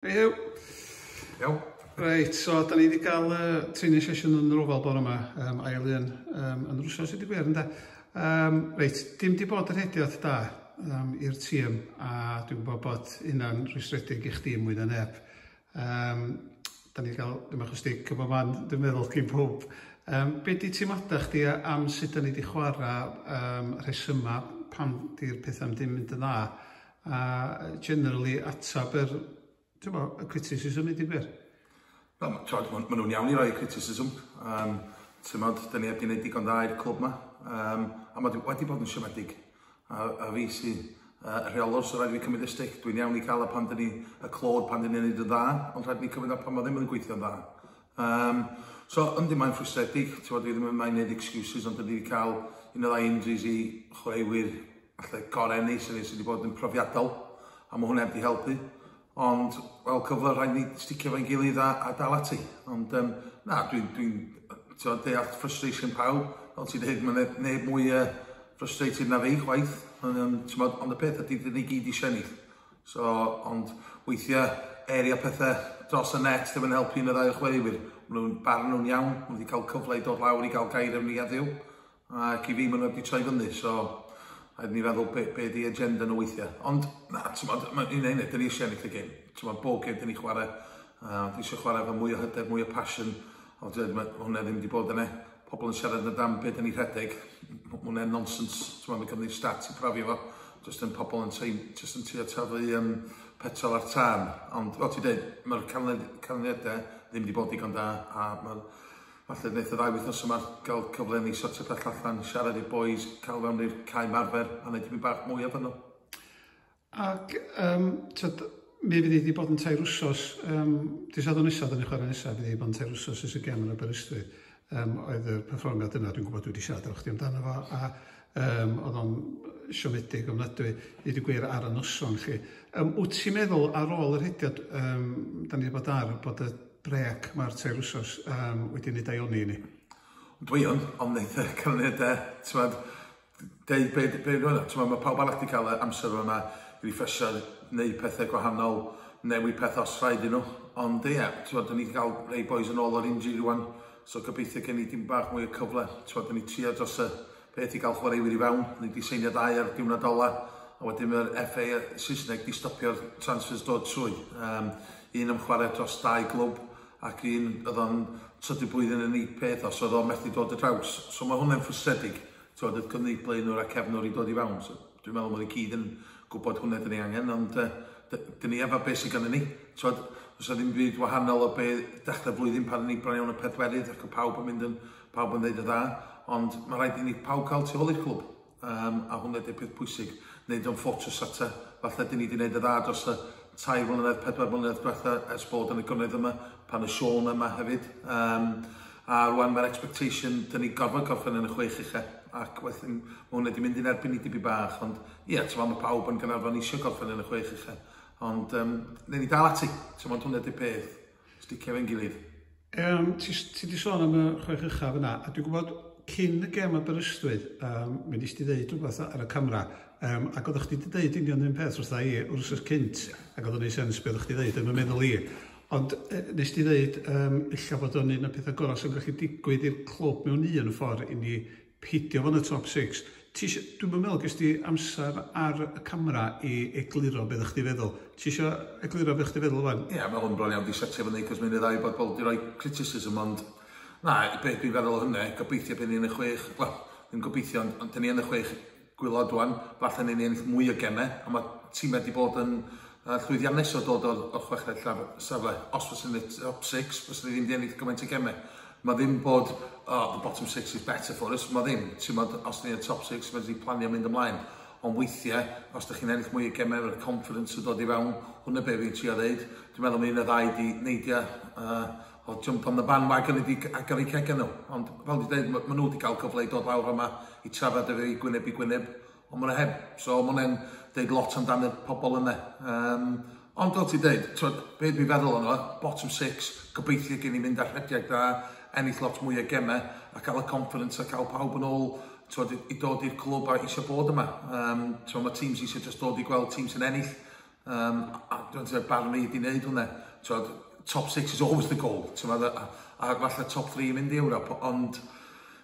Hei Huw. Iawn. Reit, so da ni wedi cael training session yn yr Oval bore yma, ail un yn yr wsos i gwir, ynde? Reit, dim di bod yr rhediad da i'r tîm, a dwi'n gwybod bod hynna'n rhwystredig i chdi mwy na neb. Da ni wedi cael, ddim achos di cyfo man, dwi'n meddwl, cyn pob. Be di teimladau chdi am sut da ni wedi chwarae, rhesyma pam di'r pethau ddim mynd yn dda, a generally atab yr, ti'n bo, y criticism i di gwir? Wel, ma nhw'n iawn i roi criticism. Ti'n modd, da ni heb di wneud digon dda i'r clwb ma. A mae wedi bod yn siomedig. A fi sy'n rheolwr, so rhaid i fi cymryd y stick. Dwi'n iawn i cael y pan dyn ni, y clod pan dyn ni'n neud yn dda, ond rhaid i ni cymryd o pan mae ddim yn gweithio'n dda. So, yndi, mae'n ffrustredig. Ti'n bod, dwi ddim yn mae'n neud excuses, ond dyn ni wedi cael un o ddau injuries i chwaraewyr falle gorau ni, sydd wedi bod yn profiadol, a mae hwnna wedi helpu. Ond, wel, cyfle rhaid ni sticio fo'n gilydd a dal ati. Ond, na, dwi'n dwi deall frustration pawb. Fel ti'n dweud, mae neb mwy frustrated na fi, chwaith. Ond y peth ydy, dyn ni gyd eisiau ennill. So, ond weithiau, area pethau dros y net ddim yn helpu un o ddau o chwaraewyr. Maen nhw'n barn nhw'n iawn, maen nhw wedi cael cyfle i dod lawr i gael gair efo ni heddiw. Ac i fi, maen nhw wedi troi fyny, so rhaid ni feddwl be di agenda nhw weithiau. Ond, na, ti'n modd, mae'n un dyn ni eisiau ennill y gêm. Ti'n modd, bob gêm dyn ni chwarae, dwi eisiau chwarae efo mwy o hyder, mwy o passion. Ond mae hwnna ddim wedi bod yna. Pobl yn siarad yn am be dyn ni rhedeg, hwnna'n nonsense. Ti'n modd, mae gynnu stats i profi fo. Just yn pobl yn just yn trio taflu petrol ar tân. Ond, fel ti'n dweud, mae'r canlyniadau ddim wedi bod digon da, a mae'r falle wnaeth y ddau wythnos yma gael cyfle ni sortio peth allan, siarad i'r boys, cael fewn i'r cae marfer a wneud tipyn bach mwy o nhw. Ac tyd, mi fydd hi wedi bod yn 3 wsos, dy Sadwrn nesaf, dyn ni chwarae nesaf, fydd hi wedi bod yn 3 wsos ers y gem yn Aberystwyth. Oedd y perfformiad yna, dwi'n gwybod dwi wedi siarad efo chdi amdano fo, a oedd o'n siomedig ofnadwy, i ddweud gwir, ar y noson chi. Wyt ti'n meddwl ar ôl yr rhediad da ni wedi bod ar, bod y brec mae'r 3 wsos wedi wneud daioni i ni? Dwi yn, ond wneud y canlyniadau, ti'n modd, deud be nhw'n, ti'n modd, mae pawb arall wedi cael y amser yma i refresio, neud pethau gwahanol, newid pethau os rhaid i nhw. Ond ie, ti'n modd, ni wedi cael rei boys yn ôl o'r injury rwan, so gobeithio gen i dim bach mwy o cyfle. Ti'n modd, ni trio dros y peth i gael chwaraewyr i fewn, ni wedi seinio dau ar diwrnod ola, a wedyn mae'r FA Saesneg di stopio'r transfers dod trwy. Un am chwarae dros dau glwb, ac un oedd o'n trydydd blwyddyn yn ei peth os oedd o'n methu dod y draws. So mae hwnna'n ffrustredig. Ti'n oedd cynnig blaenwr a cefnwr i dod i fewn. So, dwi'n meddwl bod ni gyd yn gwybod hwnna dyn ni angen, ond dyn ni efo beth sydd gennym ni. Ti'n oes ddim byd wahanol o be dechrau blwyddyn pan ni bron iawn y pedwerydd ac y pawb yn mynd yn, pawb yn dweud y dda. Ond mae rhaid i ni pawb cael tu ôl i'r clwb. A hwnna ydy'r peth pwysig. Wneud o'n ffortress ata. Falle dyn ni wedi gwneud y dda dros y 3 mlynedd, 4 mlynedd diwetha ers bod yn y gwneud yma, pan y Sean yma hefyd. A rwan mae'r expectation, dyn ni gorfod gorffen yn y chwech ucha. Ac wedyn, mae hwnna wedi mynd i'n erbyn i dibi bach. Ond ie, yeah, mae pawb yn Gaernarfon eisiau gorffen yn y chwech ucha. Ond newn ni dal ati. Ti'n meddwl, hwnna ydy'r peth. Sticio fe'n gilydd. Ti di sôn am y chwech uchaf yna, a dwi'n gwybod cyn y gêm Aberystwyth, mi nes ti ddeud rhywbeth ar y camera, ac oeddech chdi wedi dweud union un peth wrtha i wrth wsos cynt, ac oedd o'n neud sens beth oeddech chdi ddeud yn fy meddwl i. Ond nes ti ddeud, ella bod o'n un o'r pethau gorau sy'n gallu digwydd i'r clwb mewn un ffordd i ni peidio fod yn y top 6. Dwi'n meddwl ges ti amser ar y camera i egluro beth ydych chdi feddwl. Ti eisiau egluro beth chdi feddwl fan? Ie, yeah, mae hwn bron iawn di setio fyny, cos mae'n ddau bod bobl di roi criticism, ond na, beth dwi'n feddwl o hynny, gobeithio bydd ni yn y chwech, wel, ddim gobeithio, ond dyn ni yn y chwech gwaelod rwan, falle ni ennill mwy o gemau, a mae tîmau wedi bod yn llwyddiannus o dod o'r chweched safle. Os fysa ni top 6, fysa ni ddim wedi ennill gymaint o gemau. Mae ddim bod, "Oh, the bottom six is better for us", mae ddim. Ti'n modd, os ni yn top 6, mae wedi planio mynd ymlaen. Ond weithiau, os ydych chi'n ennill mwy o gemau, mae'r confidence yn dod i fewn, hwnna be fi'n trio ddeud. Dwi'n meddwl mae un o ddau di neidio o jump on the bandwagon wedi agor eu cegau nhw. Ond fel dwi'n dweud, ma nhw wedi cael cyfle i dod lawr yma i trafod efo i gwyneb i gwyneb. Ond maen nhw heb. So maen nhw'n deud lot amdano y pobl yna. Ond fel ti'n dweud, twyd, be dwi'n feddwl yno, bottom six, gobeithio gen i mynd ar rhediad da, ennill lot mwy o gemau, a cael y confidence a cael pawb yn ôl, twyd, i dod i'r clwb a eisiau bod yma. Twyd, mae teams eisiau just dod i gweld teams yn ennill. A dwi'n meddwl barn fi di wneud hwnna. Twod, top 6 is always the goal. Twod, a falle top 3 mynd i Ewrop, ond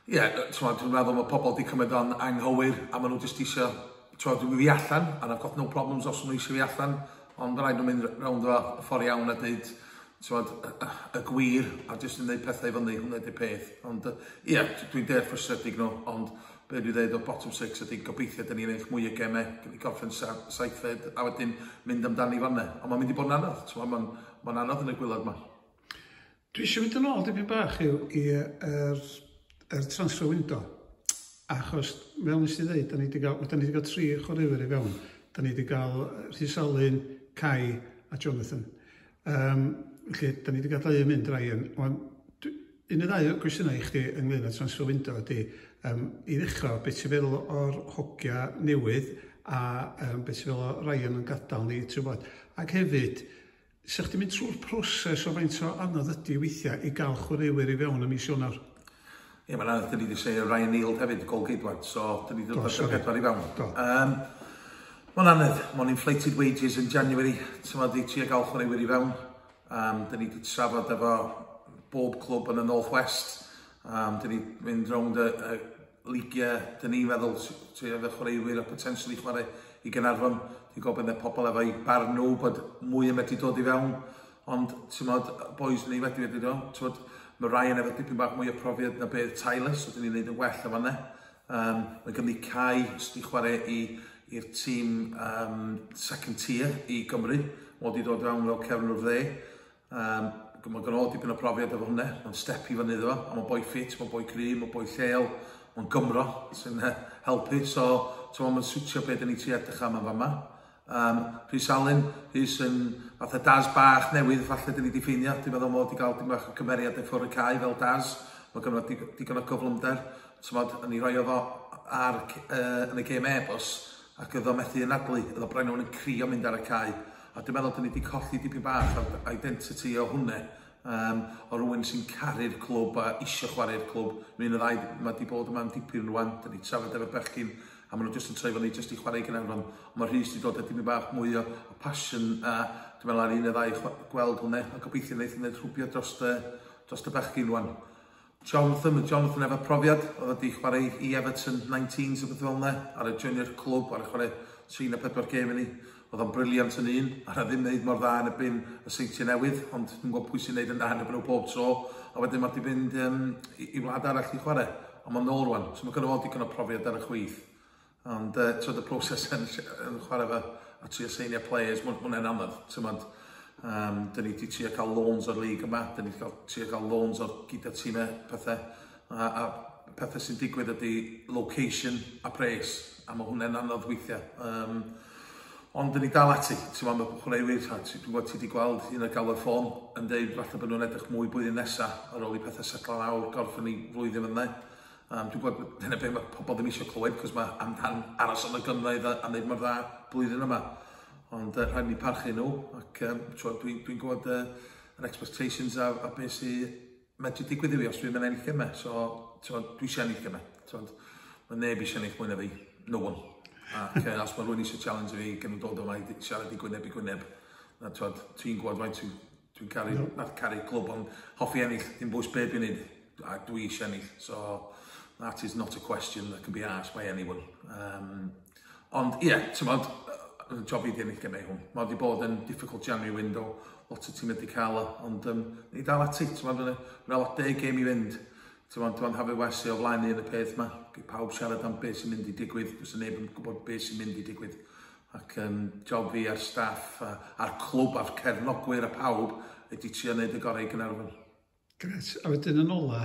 ie, yeah, dwi'n meddwl mae pobl di cymryd o'n anghywir a maen nhw jyst eisiau, twod, dwi'n fi allan, and I've got no problems os nhw eisiau fi allan, ond rhaid nhw'n mynd rownd o y ffordd iawn a dweud, twod, y gwir, a jyst yn gwneud pethau i fyny, hwnna ydy'r peth. Ond ie, yeah, dwi'n deall frustredig nhw, ond be dwi'n dweud o bottom six ydy gobeithio dyn ni'n ennill mwy o gemau, gyn ni gorffen saithfed, a wedyn mynd amdani fanna. Ond mae'n mynd i bod yn anodd, mae'n ma anodd yn y gwaelod yma. Dwi eisiau mynd yn ôl dipyn bach i'r transfer window. Achos, fel nes i ddweud, da ni wedi cael tri chwaraewyr i fewn. Da ni wedi cael Rhys Alun, Kai a Jonathan. Felly, da ni wedi cael dau yn mynd, Ryan. Ond, un neu ddau o gwestiynau i chdi ynglyn â transfer window ydy, i ddechrau, beth ti'n feddwl o'r hogia newydd a beth ti'n feddwl o Ryan yn gadael ni, ti'n gwybod. Ac hefyd, sa chdi'n mynd trwy'r proses o faint o anodd ydy weithiau i gael chwaraewyr i fewn ym mis Ionawr? Ie, mae'n anodd, dyn ni wedi seinio Ryan Neal hefyd, gol-geidwad, so dyn ni wedi dod â'r pedwar i fewn. Do. Mae'n anodd, mae'n inflated wages in January, ti'n meddwl, i trio gael chwaraewyr i fewn. Dyn ni wedi trafod efo bob clwb yn y North West. Dyn ni mynd rownd y ligiau, dyn ni'n feddwl trio efo chwaraewyr a potentially chwarae i Gaernarfon. Dwi'n gwybod bod pobl efo'i barn nhw bod mwy yn medru dod i fewn. Ond, ti'n modd, boys ni wedi dod, ti'n modd, mae Ryan efo dipyn bach mwy o profiad na beth Tyler, so dyn ni'n neud yn well o fanna. Mae gynnu Kai sydd wedi chwarae i'r tîm second tier i Gymru. Mae wedi dod fewn fel cefnwr dde. Mae gen o dipyn o profiad efo hwnna. Mae'n step i fyny iddo fo. A mae'n boi ffit, mae'n boi cry, mae'n boi lleol, mae'n Gymro sy'n helpu. So, mae'n swtio beth dyn ni tri edrych am yn fama. Rhys Alun, Rhys yn fatha Daz bach newydd, falle dyn ni wedi ffeindio. Dwi'n meddwl mod i gael dim bach o cymeriad i ffwrdd y cae fel Daz. Mae gynno digon o gyflymder. Tymod, yn ei roi o fo yn y gêm Airbus ac oedd o methu anadlu. Oedd o bron yn crio mynd ar y cae. A dwi'n meddwl dyn ni wedi colli dipyn bach o'r identity o hwnna. O rhywun sy'n caru'r clwb a isio chwarae'r clwb. Mae'n y ddau, mae wedi bod yma am dipyn rwan. Dyn ni trafod efo bechgyn a maen nhw jyst yn troi fyny jyst i chwarae i Gaernarfon. Ond mae Rhys wedi dod â dipyn bach mwy o passion a dwi'n meddwl ar un y ddau gweld hwnna a gobeithio wneud hynny rhwbio dros y bechgyn rwan. Jonathan, mae Jonathan efo profiad, oedd wedi chwarae i Everton 19s o beth fel yna, ar y junior clwb, ar y chwarae 3 na 4 gêm i ni. Oedd o'n brilliant yn un, a ddim wneud mor dda yn erbyn y Seintiau Newydd, ond dwi'n gwybod pwy sy'n wneud yn dda yn erbyn nhw pob tro, a wedyn mae wedi fynd i wlad arall i chwarae. Ond mae'n nôl rwan, so mae gynno fo digon o profiad ar y chwith. Ond twyd, y proses yn chwarae fe a trio seinio players, mae'n ma anodd. Tymod, dyn ni wedi trio cael loans o'r league yma, dyn ni wedi trio cael loans o'r gyda tîmau pethau. A pethau sy'n digwydd ydy location a pres, a mae hwnna'n anodd weithiau. Ond dyn ni dal ati, ti'n meddwl, mae chwaraewyr, dwi'n gwybod ti wedi gweld un o'r galw ffôn yn dweud falle bod nhw'n edrych mwy blwyddyn nesaf ar ôl i pethau setlo lawr, gorffen i flwyddyn fyna. Dwi'n gwybod dyna beth mae pobl ddim eisiau clywed, cos mae amdan aros yn y gynghrair a wneud mor dda blwyddyn yma. Ond rhaid ni parchu nhw, ac dwi'n dwi gwybod yr expectations a beth sy'n medru digwydd i fi os dwi'n mynd ennill gemau. So, dwi eisiau ennill gemau. Mae neb eisiau ennill mwy na fi. No one. Ac os mae rhywun eisiau challenge fi, gen nhw dod yma i siarad i gwyneb i gwyneb. Na, ti'n gwybod faint dwi'n caru, no. Not caru clwb, ond hoffi ennill, dim bwys be dwi'n neud. A dwi eisiau ennill. So, that is not a question that can be asked by anyone. Ond, ie, yeah, ti'n modd, job i di ennill gemau hwn. Mae wedi bod yn difficult January window, lot o tîm wedi cael o, ond ni dal ati, ti'n modd, mae'n lot 10 gêm i fynd. Ti'n modd, dwi'n Haverfordwest o flaen ni yn y peth yma. Gei pawb siarad am beth sy'n mynd i digwydd, does neb yn gwybod beth sy'n mynd i digwydd. Ac job fi a'r staff, a'r clwb, a'r cefnogwyr a pawb ydy trio wneud y gorau i Gaernarfon. Gret. A wedyn yn ola,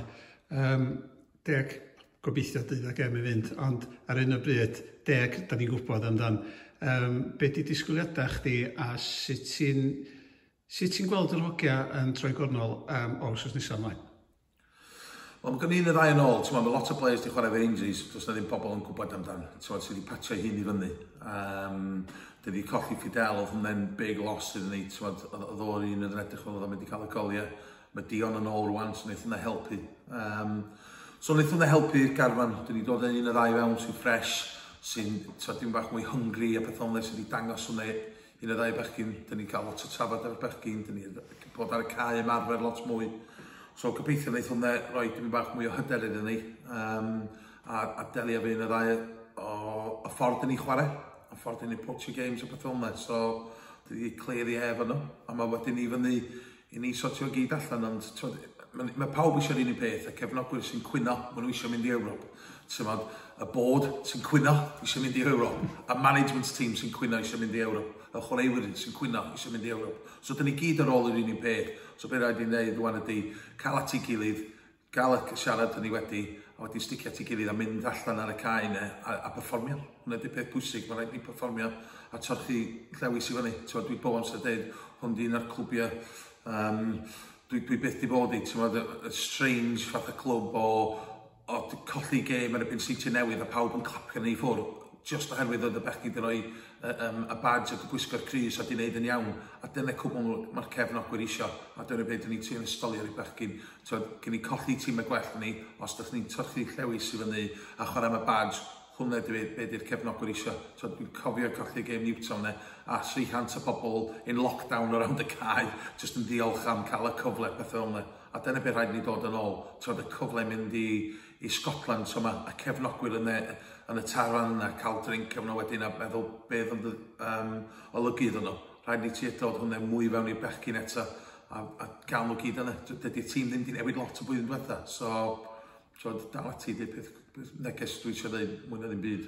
10, gobeithio 12 gêm i fynd, ond ar un o bryd, 10, da ni'n gwybod amdan. Be di disgwyliadau chdi a sut ti'n gweld yr hogia yn troi gornol o wsos nesaf ymlaen? Wel, mae gen i un y ddau yn ôl, ti'n mae lot o players di chwarae efo injuries, does na ddim pobl yn gwybod amdan, ti'n sydd wedi patio hun i fyny. Dyn ni colli Fidel, oedd hwnna'n big loss iddyn ni, ti'n oedd o'r un yn edrych fel oedd o'n mynd i cael y goliau. Mae Dion yn ôl rwan, so wnaeth hwnna helpu. So wnaeth hwnna helpu i'r garfan, dyn ni dod yn un y ddau fewn sy'n fresh, sy'n dim bach mwy hungry a pethau fel sydd wedi dangos hwnna Un o ddau bechgyn, dyn ni'n cael lot o trafod efo'r bechgyn, dyn ni'n bod ar y cae ymarfer lot mwy. So gobeithio wneith hwnna roi dipyn bach mwy o hyder iddyn ni a delio efo un o ddau o y ffordd dyn ni'n chwarae, y ffordd dyn ni'n approach games a pethau fel yna. So dyn ni clear the air efo nhw, a mae wedyn ni fyny i ni sortio gyd allan, ond mae pawb eisiau'r un peth, y cefnogwyr sy'n cwyno, maen nhw eisiau mynd i Ewrop. Tymod, y board sy'n cwyno eisiau mynd i Ewrop, a management team sy'n cwyno eisiau mynd i Ewrop, y chwaraewyr sy'n cwyno eisiau mynd i Ewrop. So dyn ni gyd ar ôl yr un peth. So be rhaid i wneud rwan ydy cael at ei gilydd, gael y siarad dyn ni wedi, a wedi sticio at ei gilydd a mynd allan ar y cae yna a perfformio. Hwna ydy peth pwysig, mae rhaid ni perfformio a torchi llewis i fyny. Tymod, dwi bob amser dweud, hwn di un o'r clwbiau dwi byth di bod i, ti'n y strange fath o clwb o colli gêm yn erbyn Seintiau Newydd a pawb yn clapio ni i ffwrdd, just oherwydd oedd y bechgyn wedi rhoi y badge a gwisgo'r crys a di wneud yn iawn. A dyna cwbl mae'r cefnogwyr isio. A dyna beth dyn ni'n trio ystoli ar y bechgyn. Gyn ni colli tîm y gwell ni, os ydych ni'n torchi llewis i fyny a chwarae am y badge, hwnna ydy be di'r cefnogwyr isio. So, dwi'n cofio colli gêm Newtown ne, a 300 o bobl in lockdown around y cae, just yn diolch am cael y cyfle, pethau fel yna. A dyna beth rhaid ni dod yn ôl. Twod, y cyfle mynd i Scotland, so ma, y cefnogwyr yn y tafarn yna, cael drink efo nhw wedyn a meddwl beth ond olygu iddyn nhw. Rhaid ni trio dod hwnna mwy fewn i'r bechgyn eto a gael nhw gyd yna. Dydy'r tîm ddim wedi newid lot o blwyddyn diwetha. So, dal ati, di peth neges dwi eisiau dweud mwy na ddim byd.